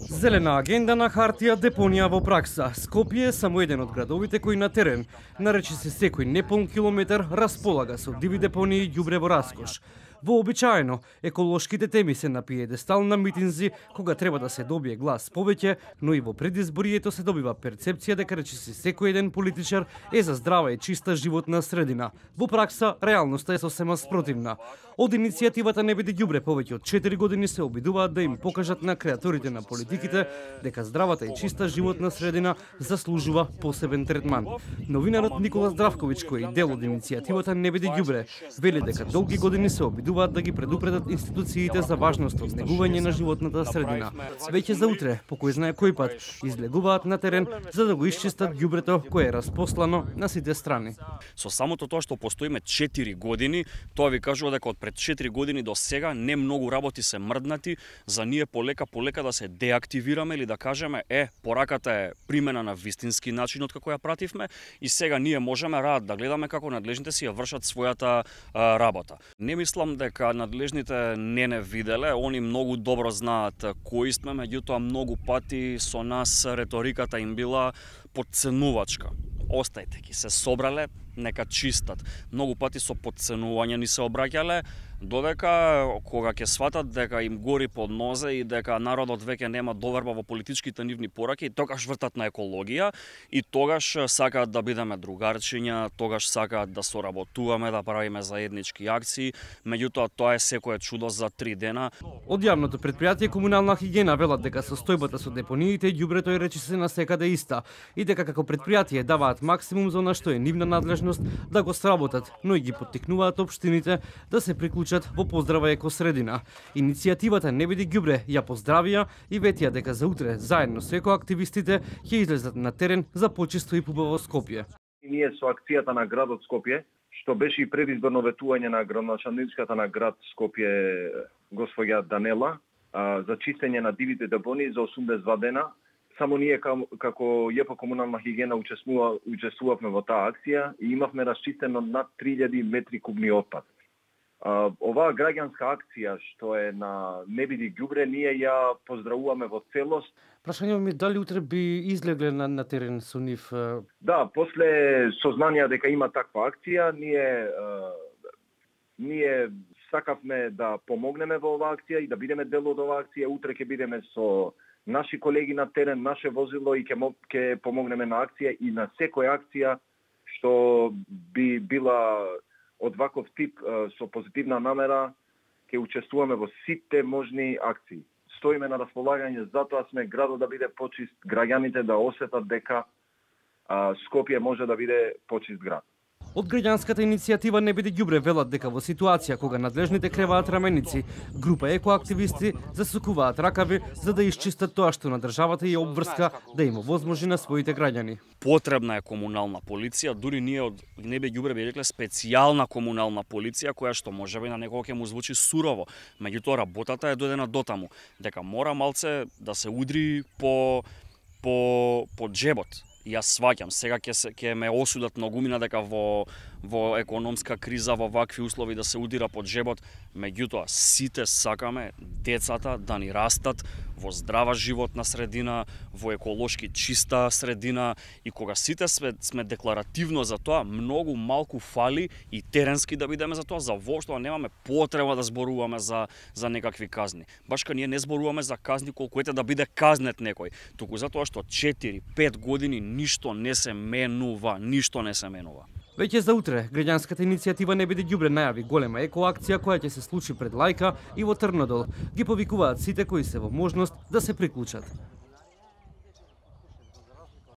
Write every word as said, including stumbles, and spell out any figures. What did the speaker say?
Зелена агенда на хартија, депонија во пракса. Скопје е само еден од градовите кои на терен, нарече се секој неполн километар, располага со диви депонии и ѓубре во раскош. Вообичаено, еколошките теми се на пиедестал на митинзи, кога треба да се добие глас повеќе, но и во предизборието се добива перцепција дека речиси секој еден политичар е за здрава и чиста животна средина. Во пракса, реалноста е сосема спротивна. Од иницијативата Не биде ѓубре повеќе од четири години се обидуваат да им покажат на креаторите на политиките дека здравата и чиста животна средина заслужува посебен третман. Новинарот Никола Здравковиќ, кој е дел од иницијативата Не биде ѓубре, вели дека долги години се обидуваат да ги предупредат институциите за важноста од негување на животната средина. Веќе за утре, по кој знае кој пат, излегуваат на терен за да го исчистат ѓубрето кое е распослано на сите страни. Со самото тоа што постоиме четири години, тоа ви кажува дека од пред четири години до сега не многу работи се мрднати, за ние полека полека да се деактивираме или да кажеме е, пораката е примена на вистински начин од како ја пративме и сега ние можеме рад да гледаме како надлежните си ја вршат својата а, работа. Не мислам дека надлежните не не виделе, они многу добро знаат кои сме, меѓутоа многу пати со нас реториката им била подценувачка. Остајте ги, се собрале, нека чистат. Многу пати со подценување ни се обраќале, додека кога ќе сватат дека им гори под нозе и дека народот веќе нема доверба во политичките нивни пораки, тогаш вртат на екологија и тогаш сакаат да бидеме другарчиња, тогаш сакаат да соработуваме, да правиме заеднички акции, меѓутоа тоа е секое чудо за три дена. Од јавното предпријатие Комунална хигиена велат дека состојбата со депониите и ѓубрето е речиси на секаде иста и дека како предпријатие даваат максимум за она што е нивна надлежност да го сработат, но и ги поттикнуваат општините да се приклучат во поздрава екосредина. Иницијативата Не биде ѓубре ја поздравија и ветија дека за утре заедно со екоактивистите ќе излезат на терен за почисто и пубаво Скопје. Ние со акцијата на градот Скопје, што беше и предизборно ветување на градоначалничката на град Скопје госпоѓа Данела за чистење на дивите депонии за осумдесет и два дена. Само ние како ЈП Комунална хигиена учествува, учествувавме во таа акција и имавме расчистено над три илјади метри кубни отпад. Uh, оваа граѓанска акција што е на Не биде ѓубре, ние ја поздравуваме во целост. Прашањето ми дали утре би излегле на, на терен со нив? Uh... Да, после сознанија дека има таква акција, ние uh, ние сакавме да помогнеме во оваа акција и да бидеме дел од оваа акција. Утре ќе бидеме со наши колеги на терен, наше возило и ќе ќе помогнеме на акција и на секоја акција што би била од ваков тип со позитивна намера, ќе учествуваме во сите можни акции. Стоиме на располагање, затоа сме градот да биде почист, граѓаните да осетат дека а, Скопје може да биде почист град. Од граѓанската иницијатива Не биде ѓубре велат дека во ситуација кога надлежните креваат раменици, група екоактивисти засукуваат ракави за да исчистат тоа што на државата ја обврска да им овозможи на своите граѓани. Потребна е комунална полиција, дури ние од Не биде ѓубре би рекле специјална комунална полиција која што можеби на некого ќе му звучи сурово, меѓутоа работата е доедена дотаму дека мора малце да се удри по по по џебот. Јас сваќам, сега ќе се ќе ме осудат многумина дека во во економска криза во вакви услови да се удира под џебот, меѓутоа сите сакаме децата да ни растат во здрава животна средина, во еколошки чиста средина и кога сите сме, сме декларативно за тоа, многу малку фали и теренски да бидеме за тоа, за воопшто немаме потреба да зборуваме за за некакви казни. Башка ние не зборуваме за казни колку ете да биде казнет некој, туку затоа што четири пет години ништо не се менува, ништо не се менува. Веќе за утре, граѓанската иницијатива Не биде ѓубре најави голема екоакција која ќе се случи пред Лајка и во Трнодол. Ги повикуваат сите кои се во можност да се приклучат.